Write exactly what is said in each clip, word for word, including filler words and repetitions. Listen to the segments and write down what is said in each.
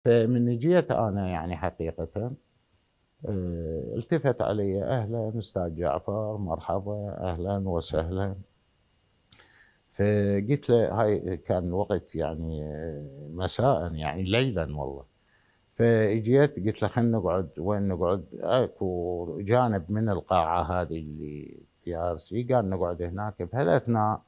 فمن جيت انا يعني حقيقة اه التفت علي: اهلا استاذ جعفر، مرحبا، اهلا وسهلا. فقلت له، هاي كان وقت يعني مساء يعني ليلا والله. فاجيت قلت له خلينا نقعد. وين نقعد؟ اكو جانب من القاعة هذه اللي بي ار سي، قال نقعد هناك. بهالاثناء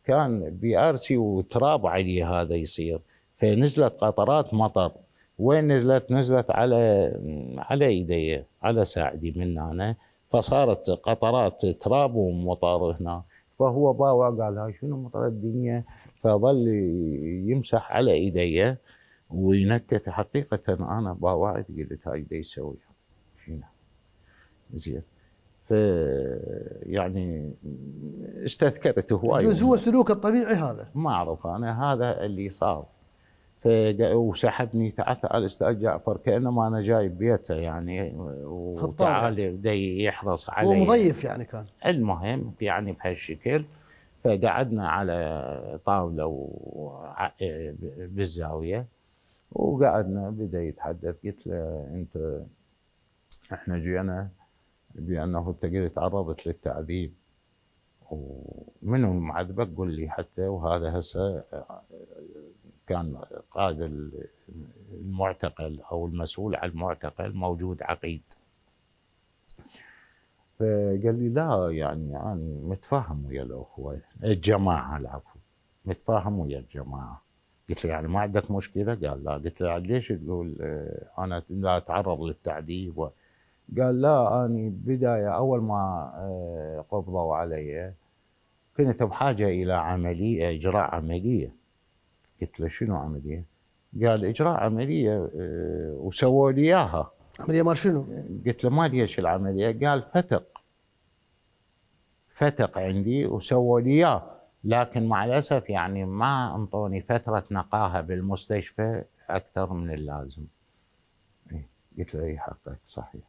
كان بي ار سي وتراب عليه هذا يصير، فنزلت قطرات مطر. وين نزلت؟ نزلت على على ايدي، على ساعدي من هنا، فصارت قطرات تراب ومطر هنا. فهو باوع قال هاي شنو مطر الدنيا، فظل يمسح على ايدي وينكت. حقيقة انا باوعت قلت هاي دا يسوي شنو زين. ف يعني استذكرت هواي. يجوز هو سلوكه الطبيعي هذا، ما اعرف انا، هذا اللي صار. ف وسحبني: تعال تعال استاذ جعفر، كانما انا جاي بيته يعني، وتعال بدا يحرص علي. هو مضيف يعني كان. المهم يعني بهالشكل. فقعدنا على طاوله بالزاويه وقعدنا، بدا يتحدث. قلت له: انت احنا جينا بانه انت قلت تعرضت للتعذيب، ومنو معذبك قل لي حتى. وهذا هسه كان قائد المعتقل او المسؤول عن المعتقل موجود عقيد. فقال لي: لا يعني انا متفاهم ويا الاخوه الجماعه، العفو، متفاهم ويا الجماعه. قلت له: يعني ما عندك مشكله؟ قال لا. قلت له: ليش تقول انا لا اتعرض للتعذيب؟ قال: لا، أنا بداية أول ما قبضوا علي كنت بحاجة إلى عملية، إجراء عملية. قلت له: شنو عملية؟ قال: إجراء عملية وسووا لي إياها. عملية مال شنو؟ قلت له: ما ليش العملية؟ قال: فتق فتق عندي وسووا لي إياه، لكن مع الأسف يعني ما انطوني فترة نقاهة بالمستشفى أكثر من اللازم. قلت له: إي حقك صحيح.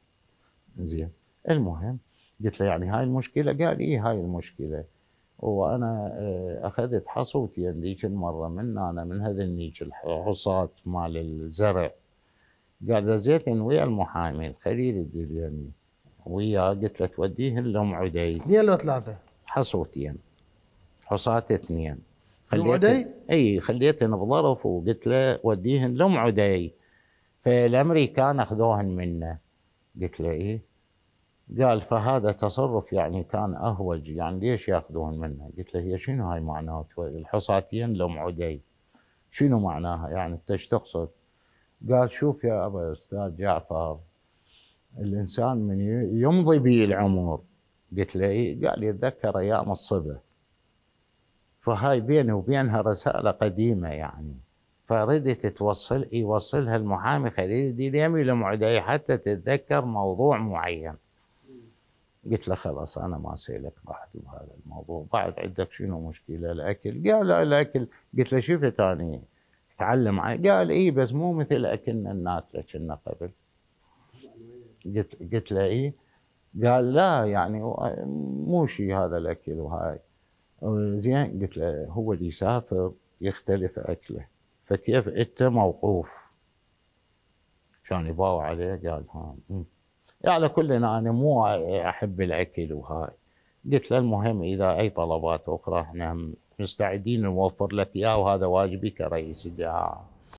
زين. المهم قلت له: يعني هاي المشكله؟ قال: اي هاي المشكله. وانا اخذت حصوتي ذيك المره من انا من هذنيك الحصات مال الزرع. قال: زيتن ويا المحامي الخليل الدليمي وياه. قلت له: توديهن لام عدي. اثنين لو ثلاثه؟ حصوتين، حصات اثنين. لام عدي؟ اي خليتهن بظرف وقلت له وديهن لام عدي. فالامريكان اخذوهن منه. قلت له: ايه. قال: فهذا تصرف يعني كان اهوج، يعني ليش ياخذون منه؟ قلت له: هي شنو هاي معناته الحصاتين لام عدي؟ شنو معناها يعني انت ايش تقصد؟ قال: شوف يا ابا استاذ جعفر، الانسان من يمضي به العمر. قلت له: ايه. قال: يتذكر ايام الصبا، فهاي بيني وبينها رساله قديمه يعني، فردت توصل يوصلها المحامي خليل الدليمي لام عدي حتى تتذكر موضوع معين. قلت له: خلاص انا ما اسالك بعد بهذا الموضوع، بعد عندك شنو مشكله؟ الاكل؟ قال: لا الاكل. قلت له: شفت اني اتعلم؟ قال: اي بس مو مثل اكلنا الناكله كنا قبل. قلت قلت له: اي. قال: لا يعني مو شيء هذا الاكل وهاي. زين. قلت له: هو اللي يسافر يختلف اكله، فكيف انت موقوف؟ كان يباوع عليه. قال: ها على كل انا مو احب الاكل وهاي. قلت له: المهم اذا اي طلبات اخرى احنا مستعدين نوفر لك اياه، وهذا واجبي كرئيس الدعاء.